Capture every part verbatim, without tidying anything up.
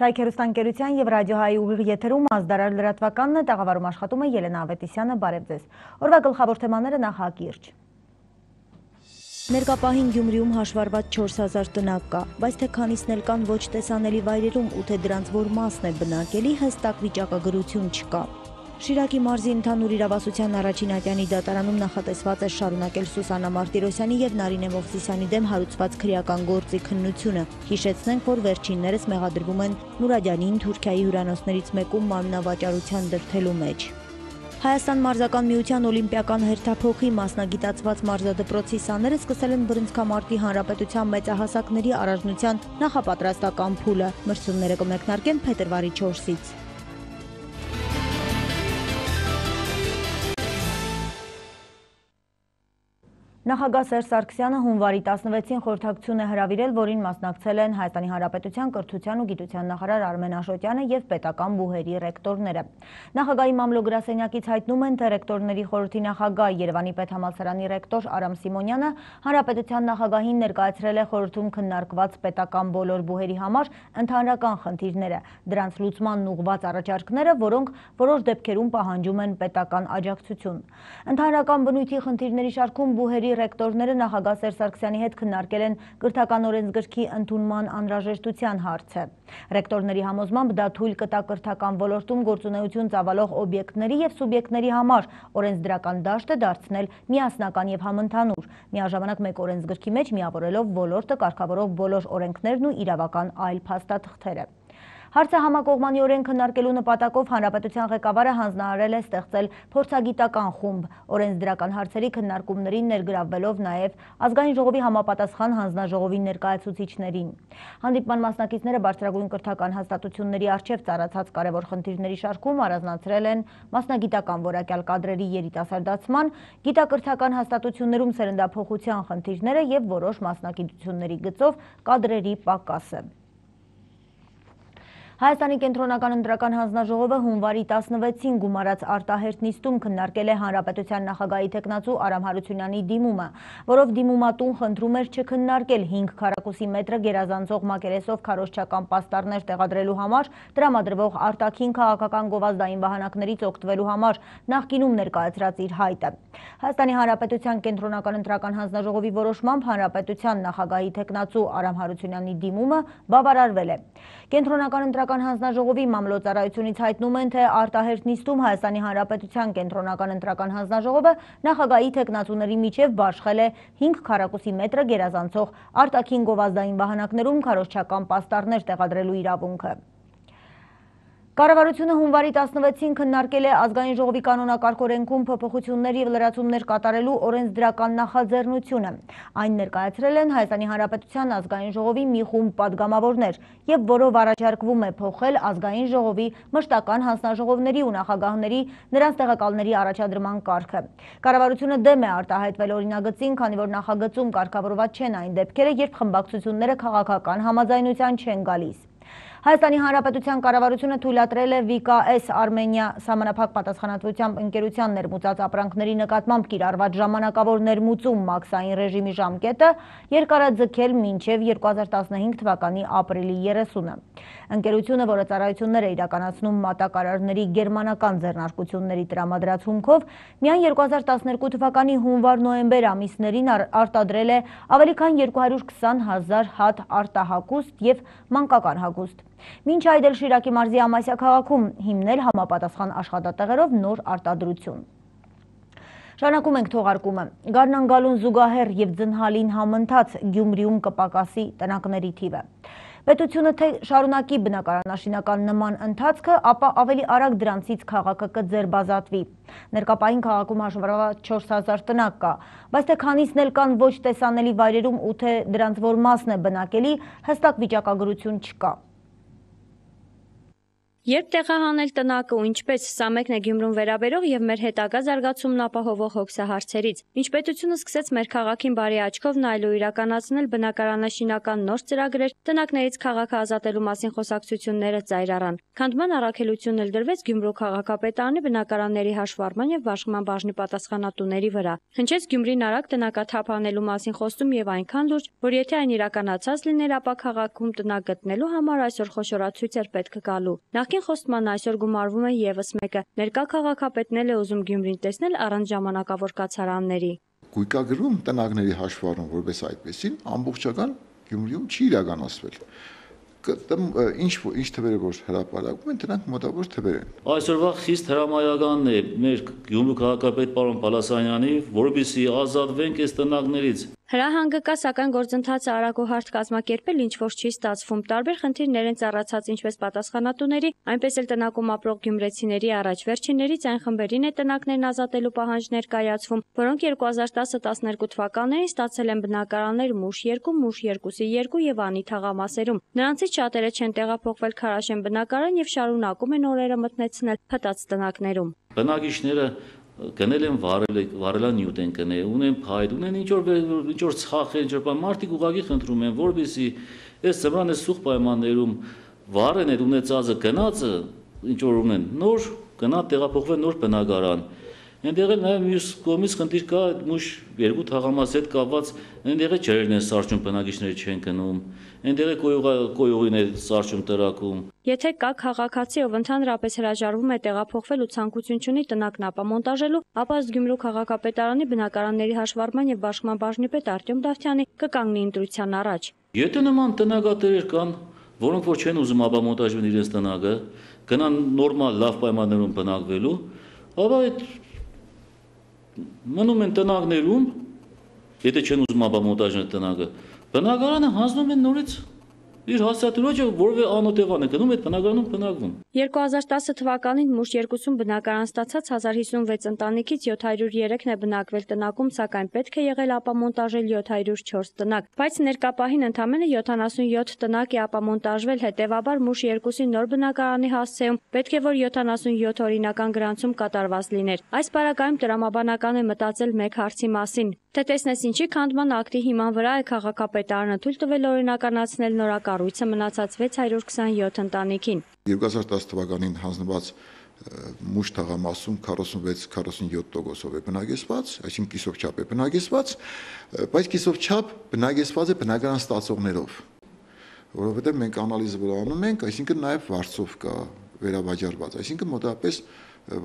Ցայք հեռուստաընկերության և ռադիոհայի ուղիղ եթերում ազդարար լրատվականն է, տաղավարում աշխատում է Ելենա Ավետիսյանը, բարև ձեզ։ Օրվա գլխավոր թեմաները նախակիրճ։ Ներկապահին Գյումրիում հաշվառված չորս հազար տնակ կա, բայց թե քանիսն էլ կան ոչ տեսանելի վայրերում ու թե դրանց որ մասն է բնակելի, հստակ վիճակագրություն չկա։ Շիրակի մարզի ընդհանուր իրավասության առաջին ատյանի դատարանում նախատեսված է շարունակել Սուսաննա Մարտիրոսյանի և Նարինե Մովսիսյանի դեմ հարուցված քրեական գործի քննությունը։ Հիշեցնենք, որ վերջիններս մեղադրվում են Նուրաջանին Թուրքիայի հյուրանոցներից մեկում մարմնավաճառության դրդելու մեջ։ Հայաստան մարզական միության օլիմպիական հերթափոխի մասնագիտացված մարզադպրոցի սաները սկսել են Բրնցքամարտի հանրապետության մեծահասակների առանձնության նախապատրաստական փուլը։ Մրցումները կմեկնարկեն փետրվարի չորսից։ Նախագահ Սերժ Սարգսյանը հունվարի տասնվեցին խորհրդակցություն է հրավիրել, որին մասնակցել են Հայաստանի Հանրապետության կրթության ու գիտության նախարար Արմեն Աշոտյանը և պետական բուհերի ռեկտորները։ Նախագահի մամլո-գրասենյակից հայտնում են, թե ռեկտորների խորհրդի նախագահ Երևանի պետհամալսարանի ռեկտոր Արամ Սիմոնյանը Հանրապետության նախագահին ներկայացրել է խորհրդում քննարկված պետական բոլոր բուհերի համար ընդհանրական խնդիրները, դրանց լուծմանն ուղղված առաջարկները, որոնք որոշ դեպքերում պահանջում են պետական աջակցություն։ Ընդհանրական բնույթի խնդիրների շարքում բուհերի ռեկտորները նախագահ Սերժ Սարգսյանի հետ քննարկել են կրթական օրենսգրքի ընդունման անհրաժեշտության հարցը։ Ռեկտորների համոզմամբ դա թույլ կտա կրթական ոլորտում գործունեություն ծավալող օբյեկտների և սուբյեկտների համար օրենսդրական դաշտը դարձնել միասնական և համընդհանուր, միաժամանակ մեկ օրենսգրքի մեջ միավորելով ոլորտը կարգավորող բոլոր օրենքներն ու իրավական այլ փաստաթղթերը։ Հարցը համակողմանիորեն քննարկելու նպատակով Հանրապետության ղեկավարը հանձնարարել է ստեղծել փորձագիտական խումբ, օրենսդրական հարցերի քննարկումներին ներգրավվելով նաև Ազգային ժողովի համապատասխան հանձնաժողովի ներկայացուցիչներին։ Հանդիպման մասնակիցները բարձրագույն կրթական հաստատությունների առջև ծառացած կարևոր խնդիրների շարքում առանձնացրել են մասնագիտական որակյալ կադրերի երիտասարդացման, գիտակրթական հաստատություններում սերնդափոխության խնդիրները և որոշ մասնագիտությունների գծով կադրերի պակասը։ Հայաստանի կենտրոնական ընտրական հանձնաժողովը հունվարի տասնվեցին գումարած արտահերթ նիստում քննարկել է Հանրապետության նախագահի թեկնածու Արամ Հարությունյանի դիմումը, որով դիմումատուն խնդրում էր չքննարկել հինգ քառակուսի մետրը գերազանցող մակերեսով քարոզչական պաստառներ տեղադրելու համար տրամադրվող արտաքին քաղաքական գովազդային վահանակներից օգտվելու համար նախկինում ներկայացրած իր հայտը։ Հայաստանի Հանրապետության կենտրոնական ընտրական հանձնաժողովի որոշմամբ Հանրապետության նախագահի թեկնածու Արամ Հարությունյանի դիմումը բավարարվել է։ Կենտրոնական ընտրական հանձնաժողովի մամլոյցարայությունից հայտնում են, թե արտահերթ նիստում Հայաստանի Հանրապետության կենտրոնական ընտրական հանձնաժողովը նախագահի թեկնածուների միջև բաշխել է հինգ քառակուսի մետրը գերազանցող արտաքին գովազդային վահանակներում քարոզչական պաստառներ տեղադրելու իրավունքը։ Կառավարությունը հունվարի տասնվեցին քննարկել է Ազգային ժողովի կանոնակարգ օրենքում փոփոխություններ և լրացումներ կատարելու օրենսդրական նախաձեռնությունը։ Այն ներկայացրել են Հայաստանի Հանրապետության Ազգային ժողովի մի խումբ պատգամավորներ, և որով առաջարկվում է փոխել Ազգային ժողովի մշտական հանձնաժողովների ու նախագահների նրանց տեղակալների առաջադրման կարգը։ Կառավարությունը դեմ է արտահայտվել օրինագծին, քանի որ նախագծում կարգավորված չեն այն դեպքերը, երբ խմբակցությունները քաղաքական համաձայնության չեն գալիս։ Հայաստանի Հանրապետության կառավարությունը թույլատրել է վի կա էս Արմենիա սահմանափակ պատասխանատվությամբ ընկերության ներմուծած ապրանքների նկատմամբ կիրառված ժամանակավոր ներմուծում մաքսային ռեժիմի ժամկետը երկարաձգել մինչև երկու հազար տասնհինգ թվականի ապրիլի երեսունը։ Ընկերությունը, որը ծառայություններ է իրականացնում մատակարարների գերմանական ձեռնարկությունների տրամադրած հումքով, միայն երկու հազար տասներկու թվականի հունվար-նոյեմբեր ամիսներին արտադրել է ավելի քան երկու հարյուր քսան հազար հատ արտահագուստ և մանկական հագուստ։ Մինչ այդ էլ Շիրակի մարզի Ամասիա քաղաքում հիմնել համապատասխան աշխատատեղերով նոր արտադրություն։ Շարունակում ենք թողարկումը։ Գարնան գալուն զուգահեռ և ձնհալին համընթաց Գյումրիում կպակասի տնակների թիվը։ Պետությունը թե շարունակի բնակարանաշինական նման ընթացքը, ապա ավելի արագ դրանցից քաղաքը կձերբազատվի։ Ներկապային քաղաքում հաշվառված չորս հազար տնակ կա, բայց թե քանիսն էլ կան ոչ տեսանելի վայրերում ու թե դրանց որ մասն է բնակելի, հստակ վիճակագրություն չկա։ Երբ տեղահանել տնակը ու ինչպես, սա մեկն է Գյումրուն վերաբերող եւ մեր հետագա զարգացումն ապահովող հոգսահարցերից։ Ինչ պետությունը սկսեց մեր քաղաքին բարի աչքով նայելու իրականացնել բնակարանաշինական նոր ծրագրեր, տնակներից քաղաքը ազատելու մասին խոսակցությունները ծայր առան։ Քանդման առաքելությունն էլ դրվեց Գյումրու քաղաքապետարանի բնակարանների հաշվառման եւ բաշխման բաժնի պատասխանատուների վրա։ Հնչեց Գյումրին արագ տնակաթափ անելու մասին խոստում եւ այնքան լուրջ, որ եթե այն իրականացած լիներ, ապա քաղաքում տնակ գտնելու համար այսօր խոշորացույց էր պետք գալու։ Նախկին խոստման այսօր գումարվում է եւս մեկը։ Ներկա քաղաքապետն էլ է ուզում Գյումրին տեսնել առանց ժամանակավոր կացարանների։ Գույկագրում տնակների հաշվառում որպես այդպեսին ամբողջական Գյումրիում չի իրականացվել։ Ինչ ինչ թվերը որ հրապարակում են, դրանք մոտավոր թվեր են։ Այսօրվա խիստ հրամայականն է մեր Գյումրու քաղաքապետ պարոն Պալասանյանի, որովհետեւ ազատվենք այս տնակներից։ Հրահանգը կա, սակայն գործընթացը արագ ու հարթ կազմակերպել ինչ որ չի ստացվում։ Տարբեր խնդիրներ են ծառացած ինչպես պատասխանատուների, այնպես էլ տնակում ապրող գյումրեցիների առաջ։ Վերջիններից այն խմբերին է տնակներն ազատելու պահանջներ կայացվում, որոնք երկու հազար տասը տասներկու թվականներին ստացել են բնակարաններ Մուշ երկու, Մուշ երկուսի երկու եւ Անի թաղամասերում։ Նրանցից շատերը չեն տեղափոխվել Քարաշեն բնակարան եւ շարունակում են օրերը մտնեցնել փտած տնակներում։ Բնակիչները գնել են վարելանյութ են գնել, ունեն փայտ, ունեն ինչ որ ինչ որ ցախ են, ինչ որ մարդիկ ուղղակի խնդրում են, որովհետեւ այս ծմրան այս սուղ պայմաններում վարեն այդ ունեցածը գնացը ինչ որ ունեն, նոր գնա տեղափոխվել նոր բնակարան։ Այնտեղ էլ նաև մյուս կողմից խնդիր կա Մուշ երկու թաղամասի հետ կապված, այնտեղ է ջրերն են սարճում, բնակիչները չեն գնում, այնտեղ է կոյուղին է սարճում տրակում։ Եթե կա քաղաքացի, ով ընդհանրապես հրաժարվում է տեղափոխվել ու ցանկություն չունի տնակն ապամոնտաժելու, ապա ըստ Գյումրու քաղաքապետարանի բնակարանների հաշվառման եւ բաշխման բաժնի պետ Արտյոմ Դավթյանի կկանգնի ընտրության առաջ։ Եթե նման տնակատերեր կան, որոնք որ չեն ուզում ապամոնտաժել իրենց տնակը, գնան նորմալ լավ պայմաններում բնակվելու, ապա այդ մնում են տնակներում, եթե չեն ուզում ապամոնտաժել տնակը, բնակարանը հանձնում են նորից իր հասարակությունը որևէ անօթևան է գնում այդ բնակարանում բնակվում։ երկու հազար տասը թվականին Մուշ երկուսում բնակարան ստացած հազար հիսունվեց ընտանիքից յոթ հարյուր երեքն է բնակվել տնակում, սակայն պետք է եղել ապամոնտաժել յոթ հարյուր չորս տնակ, բայց ներկա պահին ընդամենը յոթանասունյոթ տնակ է ապամոնտաժվել, հետևաբար Մուշ երկուսի նոր բնակարանի հասցեում պետք է որ յոթանասունյոթ օրինական գրանցում կատարված լիներ։ Այս պարագայում տրամաբանական է մտածել մեկ հարցի մասին, թե տեսնես ինչի քանդման ակտի հիման վրա է քաղաքապետարանը թույլ տվել օրինականացնել նորակառույցը մնացած վեց հարյուր քսանյոթ ընտանիքին։ երկու հազար տասը թվականին հանձնված Մուշ թաղամասում քառասունվեց քառասունյոթ տոկոսով է բնակեցված, այսինքն կիսով չափ է բնակեցված, բայց կիսով չափ բնակեցված է բնակարան ստացողներով, որովհետև մենք անալիզը վրա անում ենք, այսինքն նաև վարձով կա վերավաճառված, այսինքն մոտավորապես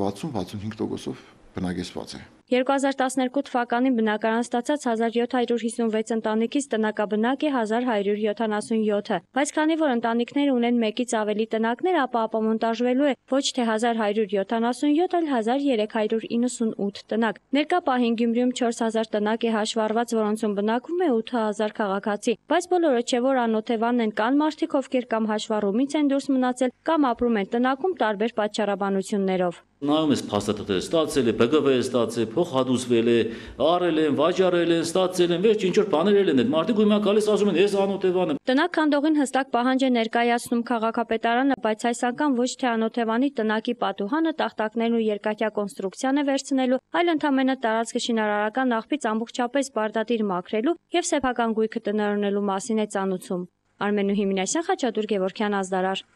վաթսուն վաթսունհինգ տոկոսով բնակեցված է։ երկու հազար տասներկու թվականին բնակարան ստացած հազար յոթ հարյուր հիսունվեց ընտանիքից տնակաբնակ է հազար հարյուր յոթանասունյոթը, բայց քանի որ ընտանիքները ունեն մեկից ավելի տնակներ, ապա ապամոնտաժվելու է ոչ թե հազար հարյուր յոթանասունյոթ, այլ հազար երեք հարյուր իննսունութ տնակ։ Ներկա պահին Գյումրիում չորս հազար տնակ է հաշվառված, որոնցում բնակվում է ութ հազար քաղաքացի, բայց բոլորը չէ որ անօթևան են, կան մարդիկ, ովքեր կամ հաշվառումից են դուրս մնացել, կամ ապրում են տնակում տարբեր պատճառաբանություններով։ Նայում ես փաստաթղթերը, ստացել է, Բ Գ V է ստացել, փոխհատուցվել է, արել են, վաճառել են, ստացել են, վերջ ինչ որ բաներ են, այդ մարդիկ ույմա գալիս ասում են, ես անօթևան եմ։ Տնակ քանդողին հստակ պահանջ է ներկայացնում քաղաքապետարանը, բայց այս անգամ ոչ թե անօթևանի տնակի պատուհանը, տախտակներն ու երկաթյա կոնստրուկցիան է վերցնելու, այլ ընդամենը տարածքը շինարարական աղբից ամբողջապես բարդատիր մաքրելու եւ սեփական գույքը տնօրինելու մասին է ծանուցում։ Արմենուհի Մինասյան, Խաչատուր Գևորգյան, Ազդարար։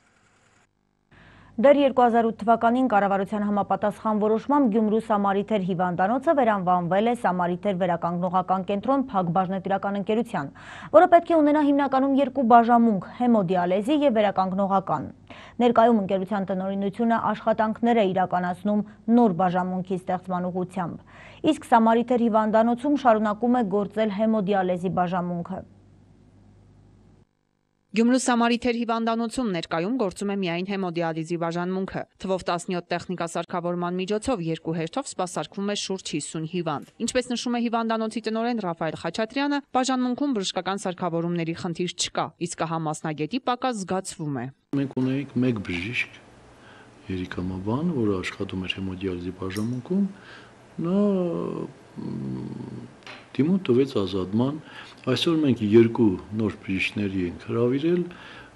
Դեռ երկու հազար ութ թվականին կառավարության համապատասխան որոշմամբ Գյումրու Սամարիթեր հիվանդանոցը վերանվանվել է Սամարիթեր վերականգնողական կենտրոն Փակ բաժնետիրական ընկերության, որը պետք է ունենա հիմնականում երկու բաժանմունք՝ հեմոդիալեզի եւ վերականգնողական։ Ներկայում ընկերության տնօրինությունը աշխատանքներ է իրականացնում նոր բաժանմունքի ստեղծման ուղղությամբ, իսկ Սամարիթեր հիվանդանոցում շարունակում է գործել հեմոդիալեզի բաժանմունքը։ Գյումրու Սամարիթեր հիվանդանոցում ներկայում գործում է միայն հեմոդիալիզի բաժանմունքը։ Թվով տասնյոթ տեխնիկասարքավորման միջոցով երկու հերթով սպասարկվում է շուրջ հիսուն հիվանդ։ Ինչպես նշում է հիվանդանոցի տնօրեն Ռաֆայել Խաչատրյանը, բաժանմունքում բժշկական սարքավորումների խնդիր չկա, իսկ ահա մասնագետի պակաս զգացվում է։ Մենք ունենք մեկ բժիշկ, Երիկ Ամաբան, որը աշխատում էր հեմոդիալիզի բաժանմունքում, նա դիմում տվեց ազատման։ Այսօր մենք երկու նոր բժիշկների ենք հրավիրել,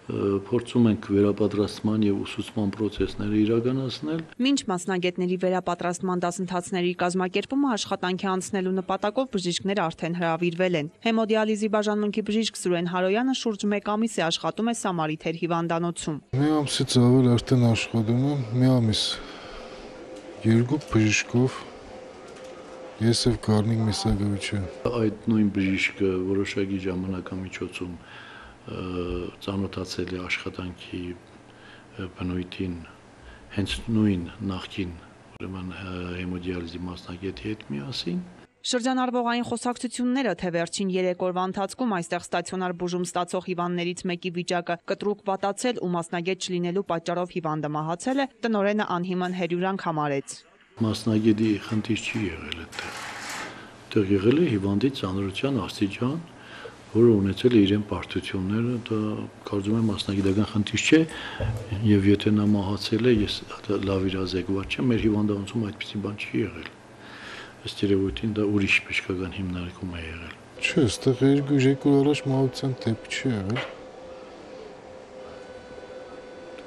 փորձում ենք վերապատրաստման եւ ուսուցման process-ները իրականացնել։ Մինչ մասնագետների վերապատրաստման դասընթացների կազմակերպումը աշխատանքի անցնելու նպատակով բժիշկները արդեն հրավիրվել են։ Հեմոդիալիզի բաժանմունքի բժիշկ Սուրեն Հարոյանը շուրջ մեկ ամիս է աշխատում է Սամարիթեր հիվանդանոցում։ Մի ամսից ավել արդեն աշխատում եմ, մի ամիս երկու բժիշկով, ես եւ Գառնիկ Միսագովիչը։ Այդ նույն բժիշկը որոշակի ժամանակամիջոցում ծանոթացել է աշխատանքի բնույթին հենց նույն նախկին ուրեմն հեմոդիալիզի մասնագետի հետ միասին։ Շրջանառվողային խոսակցությունները, թե վերջին երեք օրվա ընթացքում այստեղ ստացիոնար բուժում ստացող հիվանդներից մեկի վիճակը կտրուկ վատացել ու մասնագետ չլինելու պատճառով հիվանդը մահացել է, տնօրենը անհիմն հերյուրանք համարեց։ Մասնագետի խնդիր չի եղել այդտեղ։ Այդտեղ եղել է հիվանդի ծանրության աստիճան, որը ունեցել է իրեն պարտությունները, դա կարծում եմ մասնագիտական խնդիր չէ, եւ եթե նա մահացել է, ես լավ իրազեկված չեմ, մեր հիվանդանոցում այդպիսի բան չի եղել։ Ըստ երևույթին դա ուրիշ բժշկական հիմնարկում է եղել։ Չէ, այստեղ երկու երկու առաջ մահացան դեպք չի եղել։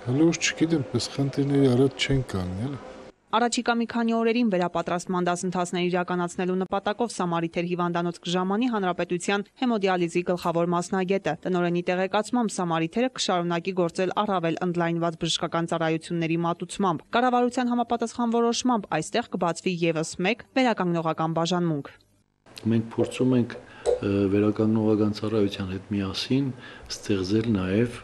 Հələ ուշ չգիտեմ, պես խնդիրների առաջ չեն կանգնել։ Առաջիկա մի քանի օրերին վերապատրաստման դասընթացներ իրականացնելու նպատակով Սամարիթեր հիվանդանոց կժամանի Հանրապետության հեմոդիալիզի գլխավոր մասնագետը։ Տնօրենի տեղեկացմամբ Սամարիթերը կշարունակի գործել առավել ընդլայնված բժշկական ծառայությունների մատուցմամբ։ Կառավարության համապատասխան որոշմամբ այստեղ կբացվի եւս մեկ վերականգնողական բաժանմունք։ Մենք փորձում ենք վերականգնողական ծառայության հետ միասին ստեղծել նաեւ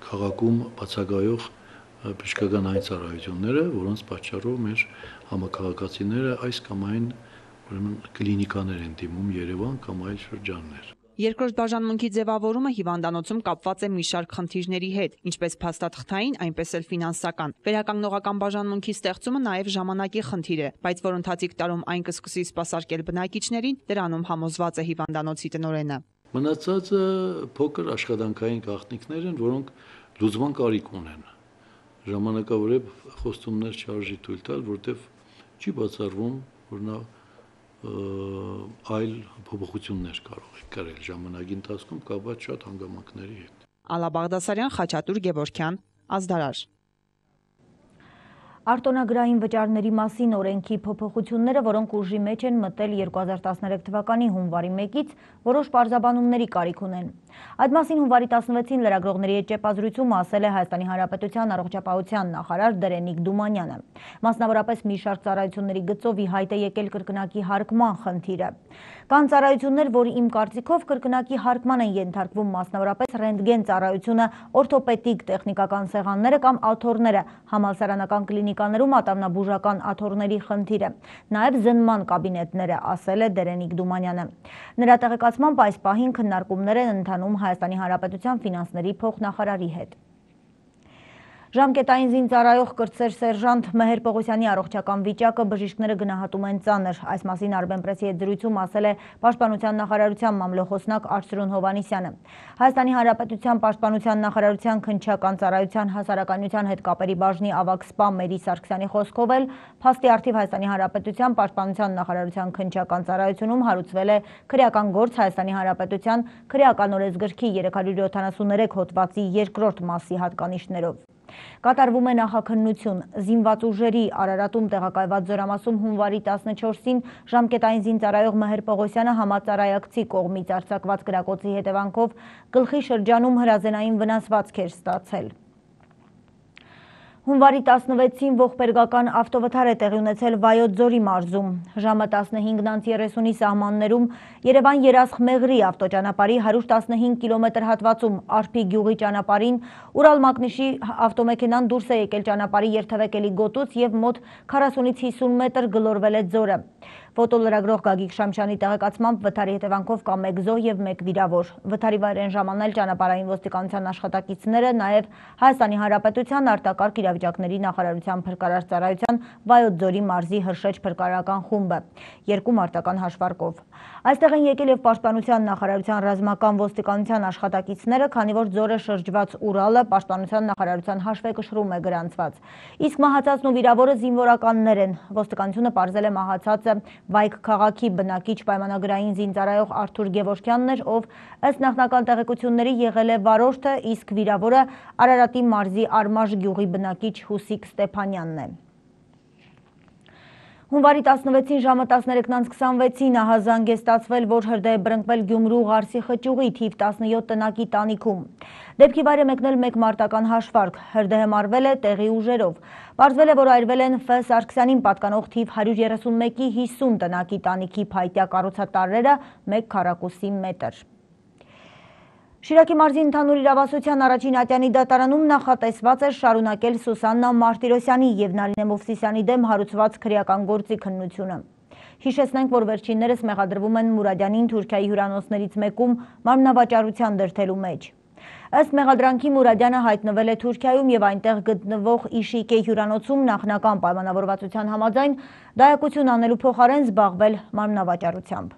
քաղաքում բացակայող բժշկական այն ծառայությունները, որոնց պատճառով մեր համակարգացիները այս կամ այն ուրեմն կլինիկաներ են դիմում Երևան կամ այլ շրջաններ։ Երկրորդ բաժանմունքի ձևավորումը հիվանդանոցում կապված է մի շարք խնդիրների հետ, ինչպես փաստաթղթային, այնպես էլ ֆինանսական։ Վերականգնողական բաժանմունքի ստեղծումը նաև ժամանակի խնդիր է, բայց որ ընթացիկ տարում այն կսկսի սպասարկել բնակիչներին, դրանում համոզված է հիվանդանոցի տնօրենը։ Մնացածը փոքր աշխատանքային գաղտնիքներ են, որոնք լուծման կարիք ունեն։ Ժամանակավորებ խոստումներ չարժի թույլ տալ, որտեվ չի բացառվում, որ նա այլ փոփոխություններ կարող է կրել ժամանակի ընթացքում կապված շատ հանգամանքների հետ։ Ալա Բաղդասարյան, Խաչատուր Գևորգյան, Ազդարար։ Արտոնագրային վճարների մասին օրենքի փոփոխությունները, որոնք ուժի մեջ են մտել երկու հազար տասներեք թվականի հունվարի մեկից, որոշ պարզաբանումների կարիք ունեն։ Այդ մասին հունվարի տասնվեցին լրագրողների հետ ճեպազրույցում ասել է Հայաստանի Հանրապետության առողջապահության նախարար Դերենիկ Դումանյանը։ Մասնավորապես մի շարք ծառայությունների գծով ի հայտ է եկել կրկնակի հարկման խնդիրը։ Կան ծառայություններ, որ իմ կարծիքով կրկնակի հարկման են ենթարկվում, մասնավորապես ռենտգեն ծառայությունը, օրթոպեդիկ տեխնիկական սեղանները կամ աթոռները, համալսարանական կլինիկաներում ատամնաբուժական աթոռների խնդիրը, նաև զննման կաբինետները, ասել է Դերենիկ Դումանյանը։ Նրա տեղեկացմամբ այս պահին քննարկումներ են ընթանում Հայաստանի Հանրապետության ֆինանսների փոխնախարարի հետ։ Ժամկետային զինծառայող կրտսեր սերժանտ Մեհեր Պողոսյանի առողջական վիճակը բժիշկները գնահատում են ծանր։ Այս մասին Արմենպրեսի հետ զրույցում ասել է Պաշտպանության նախարարության մամլոխոսնակ Արսրուն Հովհաննիսյանը։ Հայաստանի Հանրապետության Պաշտպանության նախարարության քննչական ծառայության հասարակայնության հետ կապերի բաժնի ավագ սպա Մերի Սարգսյանի խոսքով էլ փաստի առթիվ Հայաստանի Հանրապետության Պաշտպանության նախարարության քննչական ծառայությունում հարուցվել է քրեական գործ Հայաստանի Հանրապետության քրեական օրենսգրքի երեք հարյուր յոթանասուններեք հոդվածի երկրորդ մասի հատկանիշներով։ Կատարվում է նախաքննություն։ Զինված ուժերի Արարատում տեղակայված զորամասում հունվարի տասնչորսին ժամկետային զինծառայող Մեհեր Պողոսյանը համածառայակցի կողմից արձակված կրակոցի հետևանքով գլխի շրջանում հրազենային վնասվածք էր ստացել։ Հունվարի տասնվեցին ողբերգական ավտովթար է տեղի ունեցել Վայոց ձորի մարզում։ Ժամը տասնհինգ երեսունի սահմաններում Երևան-Երասխ-Մեղրի ավտոճանապարհի հարյուր տասնհինգ կիլոմետր հատվածում Արփի գյուղի ճանապարհին Ուրալմագնիշի ավտոմեքենան դուրս է եկել ճանապարհի երթևեկելի գոտուց եւ մոտ քառասունից հիսուն մետր գլորվել է ձորը։ Ֆոտոլրագրող Գագիկ Շամշյանի տեղեկացմամբ վթարի հետևանքով կա մեկ զոհ եւ մեկ վիրավոր։ Վթարի վայր են ժամանել ճանապարհային ոստիկանության աշխատակիցները, նաեւ Հայաստանի Հանրապետության արտակարգ իրավիճակների նախարարության փրկարար ծառայության Վայոց ձորի մարզի Հրշեջ փրկարարական խումբը, երկու մարտական հաշվարկով։ Այստեղ են եկել եւ Պաշտպանության նախարարության ռազմական ոստիկանության աշխատակիցները, քանի որ ձորը շրջված Ուրալը Պաշտպանության նախարարության հաշվեկշռում է գրանցված։ Իսկ մահացածն ու վիրավորը զինվորականներ են։ Ոստիկանությունը պարզել է մահացածը Վայք քաղաքի բնակիչ պայմանագրային զինծառայող Արթուր Գևորգյանն էր, ով ըստ նախնական տեղեկությունների եղել է վարորդը, իսկ վիրավորը Արարատի մարզի Արմաշ գյուղի բնակիչ Հուսիկ Ստեփանյանն է։ Հունվարի տասնվեցին ժամը տասներեքն քսանվեցին ահազանգ է ստացվել, որ հրդեհ է բռնկվել Գյումրու Ղարսի խճուղի թիվ տասնյոթ տնակի տանիքում։ Դեպքի վայր է մեկնել մեկ մարտական հաշվարկ, հրդեհը մարվել է տեղի ուժերով։ Պարզվել է, որ այրվել են Ֆ Սարգսյանին պատկանող թիվ հարյուր երեսունմեկի հիսուն տնակի տանիքի փայտյա կառուցատարրերը մեկ քառակուսի մետր։ Շիրակի մարզի ընդհանուր իրավասության առաջին ատյանի դատարանում նախատեսված էր շարունակել Սուսաննա Մարտիրոսյանի և Նարինե Մովսիսյանի դեմ հարուցված քրեական գործի քննությունը։ Հիշեցնենք, որ վերջիններս մեղադրվում են Մուրադյանին Թուրքիայի հյուրանոցներից մեկում մարմնավաճառության դրդելու մեջ։ Ըստ մեղադրանքի Մուրադյանը հայտնվել է Թուրքիայում և այնտեղ գտնվող Իշիկե հյուրանոցում նախնական պայմանավորվածության համաձայն դայակություն անելու փոխարեն զբաղվել մարմնավաճառությամբ։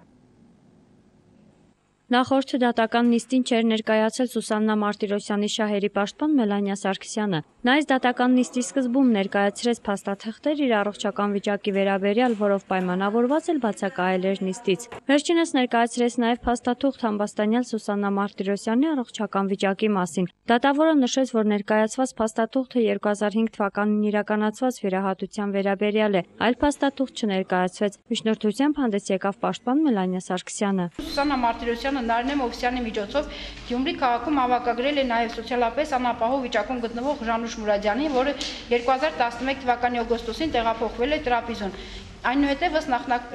Նախորդ դատական նիստին չէր ներկայացել Սուսաննա Մարտիրոսյանի շահերի պաշտպան Մելանիա Սարգսյանը։ Նա այս դատական նիստի սկզբում ներկայացրեց փաստաթղթեր իր առողջական վիճակի վերաբերյալ, որով պայմանավորված էլ բացակայել էր նիստից։ Վերջինս ներկայացրեց նաև փաստաթուղթ համբաստանյալ Սուսաննա Մարտիրոսյանի առողջական վիճակի մասին։ Դատավորը նշեց, որ ներկայացված փաստաթուղթը երկու հազար հինգ թվականին իրականացված վիրահատության վերաբերյալ է, այլ փաստաթուղթ չներկայացվեց։ Միջնորդությամբ հանդես եկավ պաշտպան Մելանիա Սարգսյանը։ Սուսաննա Մարտիրոսյանը Նարինե Մովսիսյանի միջոցով Գյումրի քաղաքում հավաքագրել է նաև սոցիալապես անապահով վիճակում գտնվող Ժանուշ Մուրադյանին, որը երկու հազար տասնմեկ թվականի օգոստոսին տեղափոխվել է Տրապիզոն։ Այնուհետև ըստ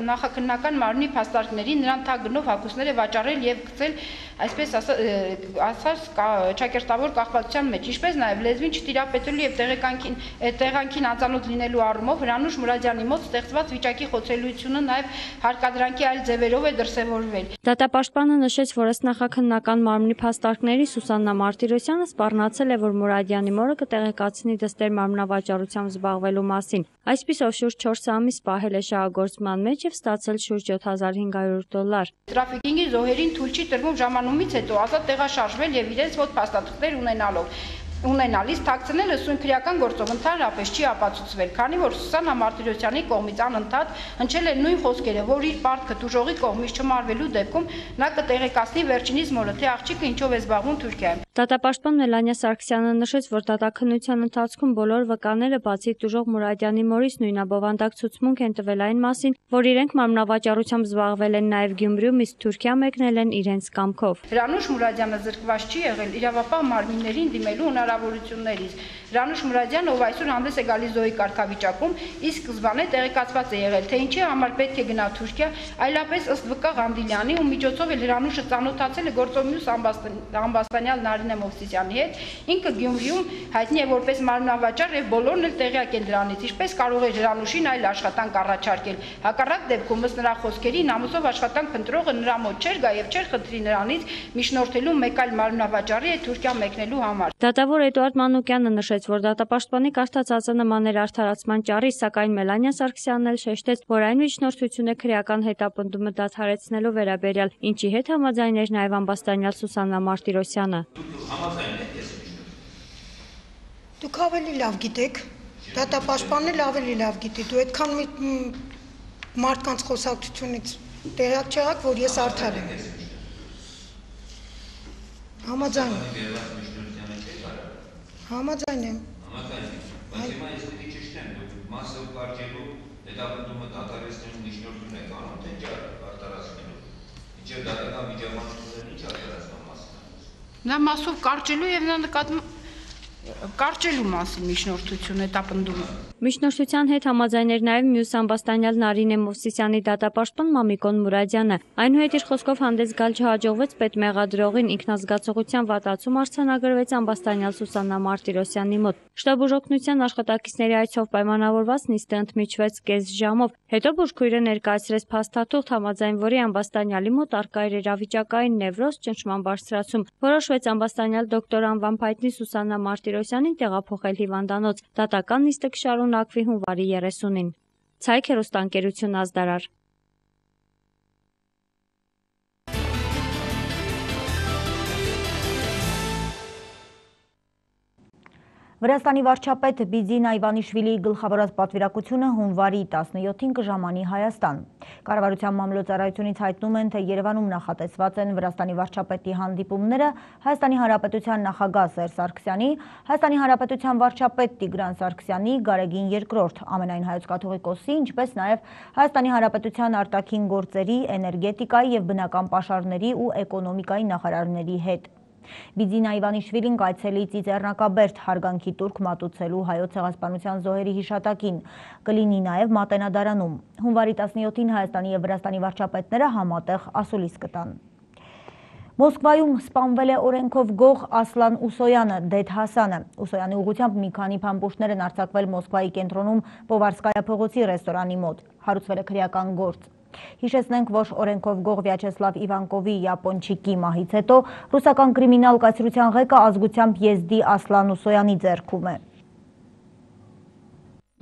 նախաքննական մարմնի փաստարկների նրան թագ գնով հագուստներ է վաճառել եւ գցել, այսպես ասած, ճակերտավոր կախվածության մեջ, ինչպես նաեւ լեզվին չտիրապետելու եւ տեղեկանքին տեղանքին անծանոթ լինելու առումով Հրանուշ Մուրադյանի մոտ ստեղծված վիճակի խոցելիությունը նաեւ հարկադրանքի այլ ձևերով է դրսևորվել։ Դատապաշտպանը նշեց, որ ըստ նախաքննական մարմնի փաստարկների Սուսաննա Մարտիրոսյանը սպառնացել է, որ Մուրադյանի մորը կտեղեկացնի դստեր մարմնավաճառությամբ զբաղվելու մասին։ Այսպիսով շուրջ չորս ամիս պահել է շահագործման մեջ եւ ստացել շուրջ յոթ հազար հինգ հարյուր դոլար։ Տրաֆիկինգի զոհերին թույլ չի տրվում ժամանումից հետո ազատ տեղաշարժվել եւ իրենց մոտ փաստաթղթեր ունենալով ունենալիս թաքցնելը սույն քրեական գործով ընդհանրապես չի ապացուցվել, քանի որ Սուսաննա Մարտիրոսյանի կողմից անընդհատ հնչել է նույն խոսքերը, որ իր պարտքը դուժողի կողմից չմարվելու դեպքում նա կտեղեկացնի վերջինիս մորը, թե աղջիկը ինչով է զբաղվում Թուրքիայում։ Դատապաշտպան Մելանիա Սարգսյանը նշեց, որ դատաքննության ընթացքում բոլոր վկաները բացի տուժող Մուրադյանի մորից նույնաբովանդակ ցուցմունք են տվել այն մասին, որ իրենք մարմնավաճառությամբ զբաղվել են նաև Գյումրիում, իսկ Թուրքիա մեկնել են իրենց կամքով։ Հրանուշ Մուրադյանը զրկված չի եղել իրավապահ մարմիններին դիմելու հնարավորություններից։ Հրանուշ Մուրադյանը, ով այսօր հանդես է գալիս զոհի կարգավիճակում, իսկ սկզբանե տեղեկացված է եղել, թե ինչի համար պետք է գնա Թուրքիա, այլապես ըստ Վկա Ղանդիլյանի, ում միջոցով էլ Հրանուշը ծանոթացել է գործով մյուս ամբաստանյալ Նարինե Մովսիսյանի հետ, ինքը Գյումրիում հայտնի է որպես մարմնավաճառ եւ բոլորն էլ տեղյակ են դրանից, ինչպես կարող է Հրանուշին այլ աշխատանք առաջարկել։ Հակառակ դեպքում ըստ նրա խոսքերի ամուսով աշխատանք փնտրողը նրա մոտ չէր գա եւ չէր խնդրի նրանից միջնորդելու մեկ այլ մարմնավաճառի հետ Թուրքիա մեկնելու համար։ Դատավոր Էդուարդ Մանուկյանը նշեց, որ դատապաշտպանի կարդաց ԱԾՆ-ն էր արդարացման ճառի, սակայն Մելանիա Սարգսյանն էլ շեշտեց, որ այն միջնորդություն է քրեական հետապնդումը դադարեցնելու վերաբերյալ, ինչի հետ համաձայն էր նաև ամբաստանյալ Սուսաննա Մարտիրոսյանը։ Դուք ավելի լավ գիտեք, դատապաշտպանն էլ ավելի լավ գիտի, դու այդքան մարդկանց խոսակցությունից տեղյակ չեղաք, որ ես արդար եմ։ Համաձայն եմ։ Համաձայն եմ։ Բայց հիմա ես պետք է ճշտեմ, դուք մասով կարճելու հետապնդումը դադարեցնելու միջնորդություն եք անում, թե ինչ արտարացնելու։ Ինչև դատական միջամարտությունն ինչ արտարացման մասին է։ Նա մասով կարճելու եւ նա նկատում կարճելու մասին միջնորդություն հետապնդումը։ Միջնորդության հետ համաձայն էր նաև մյուս ամբաստանյալ Նարինե Մովսիսյանի դատապաշտպան Մամիկոն Մուրադյանը։ Այնուհետ իր խոսքով հանդես գալ չհաջողվեց պետմեղադրողին, ինքնազգացողության վատացում արձանագրվեց ամբաստանյալ Սուսաննա Մարտիրոսյանի մոտ։ Շտաբուժօգնության աշխատակիցների այցով պայմանավորված նիստը ընդմիջվեց կես ժամով։ Հետո բուժքույրը ներկայացրեց փաստաթուղթ, համաձայն որի ամբաստանյալի մոտ առկա էր իրավիճակային նևրոզ, ճնշման բարձրացում։ Որոշվեց ամբաստանյալ դոկտոր անվան փայտնի Սուսաննա Մարտիրոսյանին տեղափոխել հիվանդանոց։ Դատական նիստը կշարունակվի հունվարի երեսունին։ Ցայք հեռուստաընկերություն Ազդարար։ Վրաստանի վարչապետ Բիձինա Իվանիշվիլիի գլխավորած պատվիրակությունը հունվարի տասնյոթին կժամանի Հայաստան։ Կառավարության մամլոյցարայությունից հայտնում են, թե Երևանում նախատեսված են Վրաստանի վարչապետի հանդիպումները Հայաստանի Հանրապետության նախագահ Սերժ Սարգսյանի, Հայաստանի Հանրապետության վարչապետ Տիգրան Սարգսյանի, Գարեգին երկրորդ ամենայն հայոց կաթողիկոսի, ինչպես նաև Հայաստանի Հանրապետության արտաքին գործերի, էներգետիկայի և բնական պաշարների ու էկոնոմիկայի նախարարների հետ։ Բիձինա Իվանիշվիլին կայցելի Ծիծեռնակաբերդ հարգանքի տուրք մատուցելու հայոց ցեղասպանության զոհերի հիշատակին, կլինի նաև Մատենադարանում։ Հունվարի տասնյոթին Հայաստանի և Վրաստանի վարչապետները համատեղ ասուլիս կտան։ Մոսկվայում սպանվել է օրենքով գող Ասլան Ուսոյանը, Դեդ Հասանը։ Ուսոյանի ուղղությամբ մի քանի փամփուշտներ են արձակվել Մոսկվայի կենտրոնում Պովարսկայա փողոցի ռեստորանի մոտ։ Հարուցվել է քրեական գործ։ Հիշեցնենք, որ օրենքով գող Վյաչեսլավ Իվանկովի Յապոնչիկի մահից հետո ռուսական կրիմինալ կայսրության ղեկը ազգությամբ եզդի Ասլան Ուսոյանի ձեռքում է։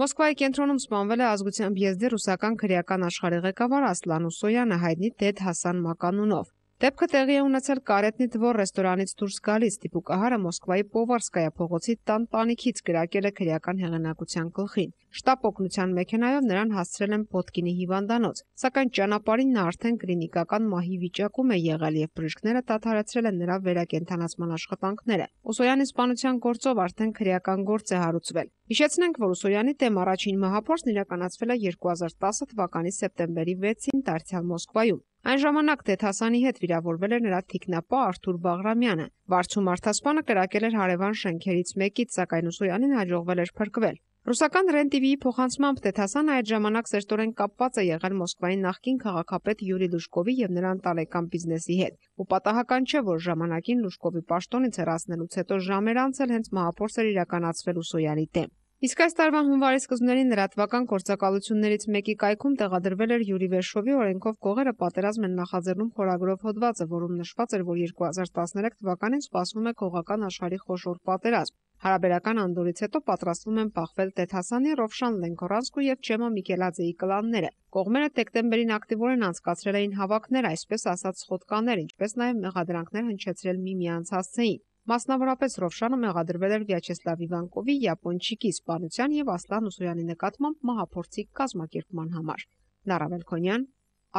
Մոսկվայի կենտրոնում սպանվել է ազգությամբ եզդի ռուսական քրեական աշխարհի ղեկավար Ասլան Ուսոյանը, հայտնի Դեդ Հասան մականունով։ Դեպքը տեղի է ունեցել Կարետնի Դվոր ռեստորանից դուրս գալիս, դիպուկահարը Մոսկվայի Պովարսկայա փողոցի տան տանիքից կրակել է քրեական հեղինակության գլխին։ Շտապ օգնության մեքենայով նրան հասցրել են Պոտկինի հիվանդանոց, սակայն ճանապարհին նա արդեն կլինիկական մահի վիճակում է եղել եւ բժիշկները դադարեցրել են նրա վերակենդանացման աշխատանքները։ Ուսոյանի սպանության գործով արդեն քրեական գործ է հարուցվել։ Հիշեցնենք, որ Ուսոյանի դեմ առաջին մահափորձն իրականացվել է երկու հազար տասը թվականի սեպտեմբերի վեցին դարձյալ Մոսկվայում։ Այն ժամանակ Դեդ Հասանի հետ վիրավորվել էր նրա թիկնապա Արթուր Բաղրամյանը։ Վարձու մարդասպանը կրակել էր հարևան շենքերից մեկից, սակայն Ուսոյանին հաջողվել էր փրկվել։ Ռուսական Ռեն տի վիի փոխանցմամբ Դեդ Հասանը այդ ժամանակ սերտորեն կապված է եղել Մոսկվայի նախկին քաղաքապետ Յուրի Լուշկովի եւ նրա ընտանեկան բիզնեսի հետ։ Ու պատահական չէ, որ ժամանակին Լուշկովի պաշտոնից հեռացնելուց հետո ժամեր անցել հենց մահափորձ էր իրականացվել Ուսոյանի դեմ։ Իսկ այս տարվա հունվարի սկզբներին լրատվական գործակալություններից մեկի կայքում տեղադրվել էր Յուրի Վերշովի օրենքով գողերը պատերազմ են նախաձեռնում խորագրով հոդվածը, որում նշված էր, որ երկու հազար տասներեք թվականին սպասվում է գողական աշխարհի խոշոր պատերազմ։ Հարաբերական անդորից հետո պատրաստվում են բախվել Դեդ Հասանի, Ռովշան Լենկորանսկու եւ Չեմա Միկելաձեի կլանները։ Կողմերը դեկտեմբերին ակտիվորեն անցկացրել էին հավաքներ, այսպես ասած սխոդկաներ, ինչպես նաև մեղադրանքներ հնչեցրել միմյանց հասցեին։ Մասնավորապես Ռովշանը մեղադրվել էր Վյաչեսլավ Իվանկովի Յապոնչիկի սպանության եւ Ասլան Ուսոյանի նկատմամբ մահափորձի կազմակերպման համար։ Նարա Մելքոնյան,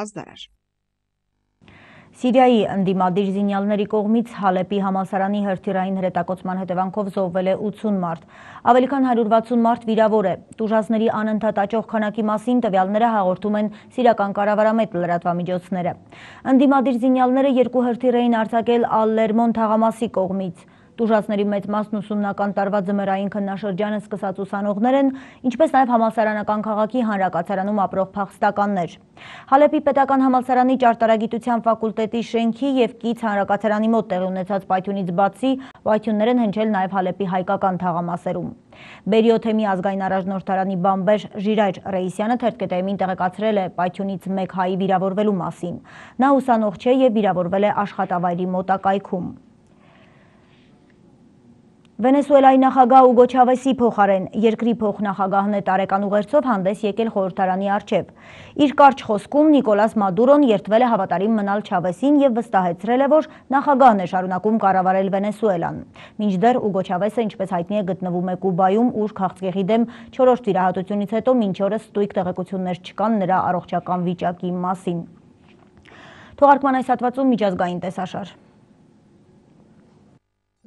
Ազդարար։ Սիրիայի ընդդիմադիր զինյալների կողմից Հալեպի համալսարանի հրթիռային հրետակոծման հետևանքով զոհվել է ութուն մարդ։ Ավելի քան հարյուր վաթսուն մարդ վիրավոր է։ Տուժածների անընդհատ աճող քանակի մասին տվյալները հաղորդում են սիրիական կառավարամետ լրատվամիջոցները։ Ընդդիմադիր զինյալները երկու հրթիռ էին արձակել Ալ-Լերմոն թաղամասի կողմից։ Տուժածների մեծ մասն ուսումնական տարվա ձմեռային քննաշրջանը սկսած ուսանողներ են, ինչպես նաև համալսարանական քաղաքի հանրակացարանում ապրող փախստականներ։ Հալեպի պետական համալսարանի ճարտարագիտության ֆակուլտետի շենքի եւ կից հանրակացարանի մոտ տեղի ունեցած պայթյունից բացի պայթյուններ են հնչել նաև Հալեպի հայկական թաղամասերում։ Բերիոթեմի ազգային առաջնորդարանի բամբեր Ժիրայր Ռեյսյանը թերթկետեմին տեղեկացրել է պայթյունից մեկ հայի վիրավորվելու մասին։ Նա ուսանող չէ եւ վիրավորվել է աշխատավայրի մոտակայքում։ Վենեսուելայի նախագահ Ուգո Չավեսի փոխարեն երկրի փոխնախագահն է տարեկան ուղերձով հանդես եկել խորհրդարանի առջև։ Իր կարճ խոսքում Նիկոլաս Մադուրոն երդվել է հավատարիմ մնալ Չավեսին եւ վստահեցրել է, որ նախագահն է շարունակում կառավարել Վենեսուելան։ Մինչդեռ Ուգո Չավեսը, ինչպես հայտնի է, գտնվում է Կուբայում, ուր քաղցկեղի դեմ չորրորդ վիրահատությունից հետո մինչ օրս ստույգ տեղեկություններ չկան նրա առողջական վիճակի մասին։ Թողարկման այս հատվածում միջազգային տեսաշար։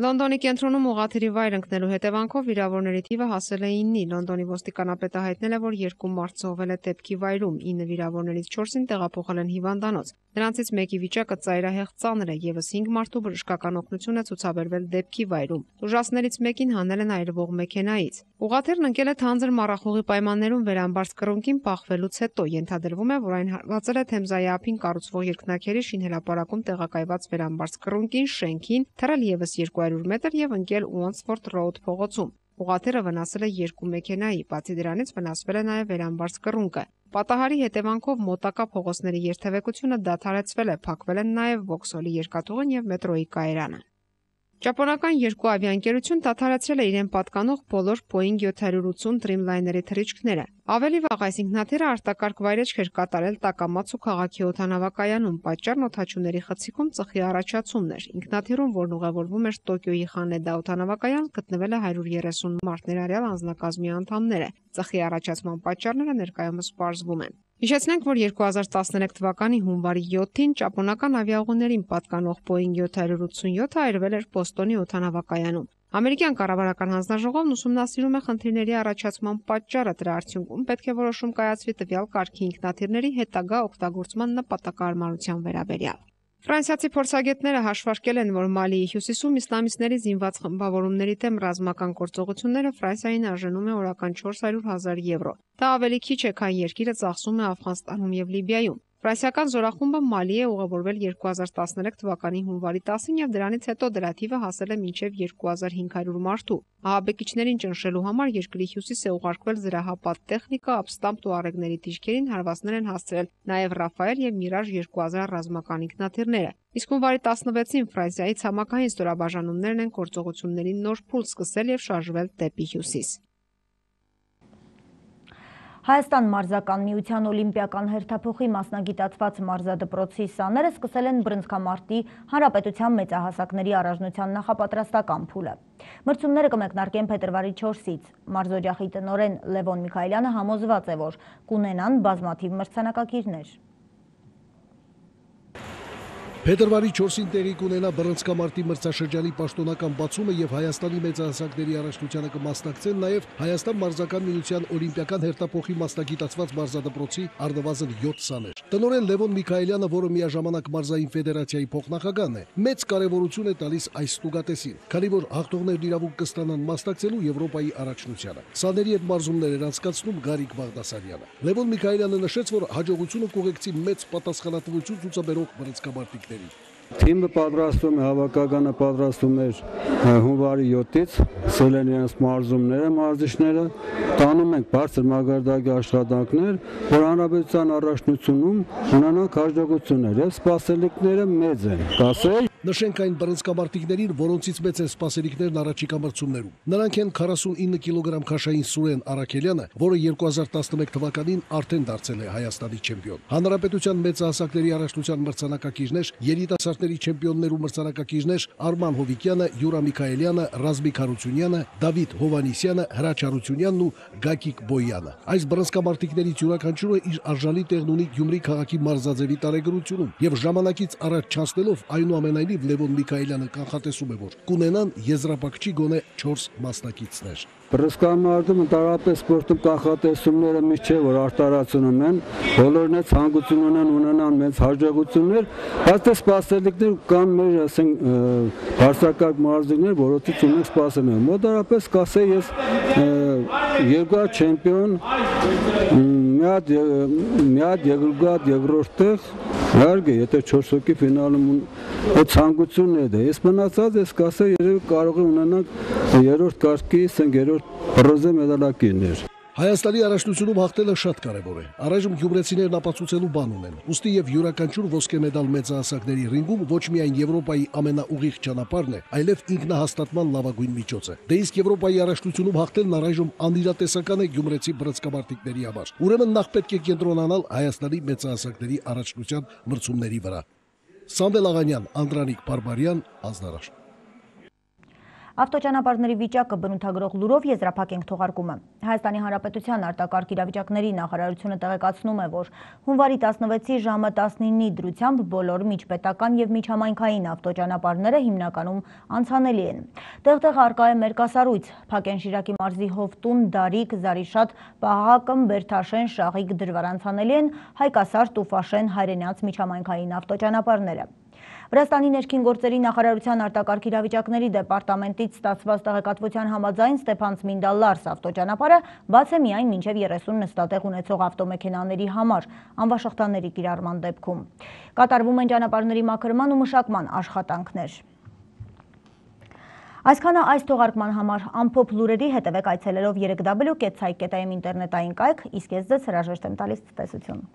Լոնդոնի կենտրոնում ուղղաթիռի վայր ընկնելու հետևանքով վիրավորների թիվը հասել է իննի։ Լոնդոնի ոստիկանապետը հայտնել է, որ երկու մարդ զոհվել է դեպքի վայրում, ինը վիրավորներից չորսին տեղափոխել են հիվանդանոց։ Նրանցից մեկի վիճակը ծայրահեղ ծանր է, եւս հինգ մարդու բժշկական օգնություն է ցուցաբերվել դեպքի վայրում։ Տուժածներից մեկին հանել են այրվող մեքենայից։ Ուղղաթիռն ընկել է թանձր մառախուղի պայմաններում վերամբարձ կռունկին փախվելուց հետո։ Ենթադրվում է, որ այն հարվածել է Թեմզայի ափին կառուցվող երկնաքերի շինհրապարակում տեղակայված վերամբարձ կռունկին, շենքին, թռել եւս երկու հարյուր մետր եւ ընկել Ուոնսֆորդ Ռոուդ փողոցում։ Ուղղաթիռը վնասել է երկու մեքենայի, բացի դրանից վնասվել է նաև վերամբարձ կռունկը։ Պատահարի հետևանքով մոտակա փողոցների երթևեկությունը դադարեցվել է, փակվել են նաև Վոքսոլի երկաթուղին եւ մետրոյի կայարանը։ Ճապոնական երկու ավիաընկերություն դադարեցրել է իրեն պատկանող բոլոր Boeing յոթ ութ Dreamliner-ի թռիչքները։ Ավելի վաղ այս ինքնաթիռը արտակարգ վայրեջք էր կատարել Տակամացու քաղաքի օդանավակայանում, պատճառն օդաչուների խցիկում ծխի առաջացումն էր։ Ինքնաթիռում, որն ուղևորվում էր Տոկիոյի Խանեդա օդանավակայան, գտնվել է հարյուր երեսուն մարդ, ներառյալ անձնակազմի անդամները։ Ծխի առաջացման պատճառները ներկայումս պարզվում են։ Հիշեցնենք, որ երկու հազար տասներեք թվականի հունվարի յոթին ճապոնական ավիաուղիներին պատկանող Boeing յոթ ութ այրվել էր Բոստոնի օդանավակայանում։ Ամերիկյան կառավարական հանձնաժողովն ուսումնասիրում է խնդիրների առաջացման պատճառը, դրա արդյունքում պետք է որոշում կայացվի տվյալ կարգի ինքնաթիռների հետագա օգտագործման նպատակարարության վերաբերյալ։ Ֆրանսիացի փորձագետները հաշվարկել են, որ Մալիի հյուսիսում իսլամիստների զինված խմբավորումների դեմ ռազմական գործողությունները Ֆրանսիային արժենում է օրական չորս հարյուր հազար եվրո։ Դա ավելի քիչ է, քան երկիրը ծախսում է Աֆղանստանում եւ Լիբիայում։ Ֆրանսիական զորախումբը Մալի է ուղևորվել երկու հազար տասներեք թվականի հունվարի տասին եւ դրանից հետո դրա թիվը հասել է մինչեւ երկու հազար հինգ հարյուր մարդու։ Ահաբեկիչներին ճնշելու համար երկրի հյուսիս է ուղարկվել զրահապատ տեխնիկա, ապստամբ туարեգների դիրքերին հարվածներ են հասցրել նաեւ Ռաֆայել եւ Միրաժ երկու հազար ռազմական ինքնաթիռները։ Իսկ հունվարի տասնվեցին Ֆրանսիայի ցամաքային ստորաբաժանումներն են գործողությունների նոր փուլ սկսել եւ շարժվել դեպի հյուսիս։ Հայաստան մարզական միության օլիմպիական հերթափոխի մասնագիտացված մարզադպրոցի սաները սկսել են բռնցքամարտի հանրապետության մեծահասակների առաջնության նախապատրաստական փուլը։ Մրցումները կմեկնարկեն փետրվարի չորսից։ Մարզօջախի տնօրեն Լևոն Միքայելյանը համոզված է, որ կունենան բազմաթիվ մրցանակակիրներ։ Փետրվարի չորսին տեղի կունենա բռնցքամարտի մրցաշրջանի պաշտոնական բացումը եւ Հայաստանի մեծահասակների առաջնությանը կմասնակցեն նաեւ Հայաստան մարզական միության օլիմպիական հերթափոխի մասնագիտացված մարզադպրոցի առնվազն յոթ սաներ։ Տնօրեն Լևոն Միքայելյանը, որը միաժամանակ մարզային ֆեդերացիայի փոխնախագահն է, մեծ կարևորություն է տալիս այս ստուգատեսին, քանի որ հաղթողներն իրավունք կստանան մասնակցելու Եվրոպայի առաջնությանը։ Սաների հետ մարզումներ էր անցկացնում Գարիկ Բաղդասարյանը։ Լևոն Միքայելյանը նշեց, որ հաջողությունը կուղեկցի մեծ պատասխանատվություն ցուցաբերող բռնցքամարտիկ Թիմը պատրաստում է, հավաքականը պատրաստում էր հունվարի յոթից, սկսել են իրենց մարզումները, մարզիչները, տանում ենք բարձր մակարդակի աշխատանքներ, որ հանրապետության առաջնությունում ունենանք հաջողություններ եւ սպասելիքները մեծ են, կասել։ Նշենք այն բռնցքամարտիկներին, որոնցից մեծ են սպասելիքներն առաջիկա մրցումներում։ Նրանք են քառասունինը կիլոգրամ քաշային Սուրեն Արաքելյանը, որը երկու հազար տասնմեկ թվականին արդեն դարձել է Հայաստանի չեմպիոն։ Հանրապետության մեծահասակների առաջնության մրցանակակիրներ, երիտասարդների չեմպիոններ ու մրցանակակիրներ Արման Հովիկյանը, Յուրա Միքայելյանը, Ռազմիկ Հարությունյանը, Դավիթ Հովանիսյանը, Հրաչ Հարությունյանն ու Գագիկ Բոյանը։ Այս բռնցքամարտիկներից յուրաքանչյուրը իր արժանի տեղն ունի Գյումրի քաղաքի մարզաձևի տարեգրությունում եւ ժամանակից առաջ չանցնելով այնուամենայնիվ Լևոն Միքայելյանը կանխատեսում է, որ կունենան եզրափակչի գոնե չորս մասնակիցներ։ Բռնցքամարտում ընդհանրապես սպորտում կանխատեսումները միշտ չէ, որ արտարացնում են, բոլորն է ցանկություն ունեն ունենան մեծ հաջողություններ, բայց դե սպասելիքներ կան մեր, ասենք, բարձրակարգ մարզիկներ, որոնցից ունենք սպասելիքներ։ Մոտարապես կասեի ես երկու հատ չեմպիոն, մի հատ մի հատ երկրորդ երկրորդ տեղ, իհարկե, եթե չորս հոգի ֆինալում ցանկությունն է դա։ Ես մնացած ես կասեի երևի կարող է ունենանք երրորդ կարգի, ասենք, երրորդ բրոնզե մեդալակիրներ։ Հայաստանի առաջնությունում հաղթելը շատ կարևոր է։ Առայժմ գյումրեցիներն ապացուցելու բան ունեն։ Ուստի եւ յուրաքանչյուր ոսկե մեդալ մեծահասակների ռինգում ոչ միայն Եվրոպայի ամենաուղիղ ճանապարհն է, այլև ինքնահաստատման լավագույն միջոց է։ Դե իսկ Եվրոպայի առաջնությունում հաղթելն առայժմ անիրատեսական է գյումրեցի բռնցքամարտիկների համար։ Ուրեմն նախ պետք է կենտրոնանալ Հայաստանի մեծահասակների առաջնության մրցումների վրա։ Սամվել Աղանյան, Անդրանիկ Բարբարյան, Ազնարաշ։ Ավտոճանապարհների վիճակը բնութագրող լուրով եզրափակենք թողարկումը։ Հայաստանի Հանրապետության արտակարգ իրավիճակների նախարարությունը տեղեկացնում է, որ հունվարի տասնվեցի ժամը տասնինի դրությամբ բոլոր միջպետական եւ միջհամայնքային ավտոճանապարհները հիմնականում անցանելի են։ Տեղտեղ արկա է մերկասառույց, Փակեն-Շիրակի մարզի Հովտուն, Դարիկ, Զարիշատ, Պահակը, Բերթաշեն, Շաղիկ, Դրվար անցանելի են, Հայկասար, Տուֆաշեն, Հայրենաց միջհամայնքային ավտոճանապարհները։ Վրաստանի ներքին գործերի նախարարության արտակարգ իրավիճակների դեպարտամենտից ստացված տեղեկատվության համաձայն Ստեփան-Ցմինդա-Լարս ավտոճանապարհը բաց է միայն մինչև երեսուն նստատեղ ունեցող ավտոմեքենաների համար անվաշղթաների կիրառման դեպքում։ Կատարվում են ճանապարհների մաքրման ու մշակման աշխատանքներ։ Այսքանը այս թողարկման համար ամփոփ լուրերի հետևեք այցելելով երեք w կետ ցայ կետ am ինտերնետային կայք, իսկ ես ձեզ հրաժեշտ եմ տալիս ցտեսություն։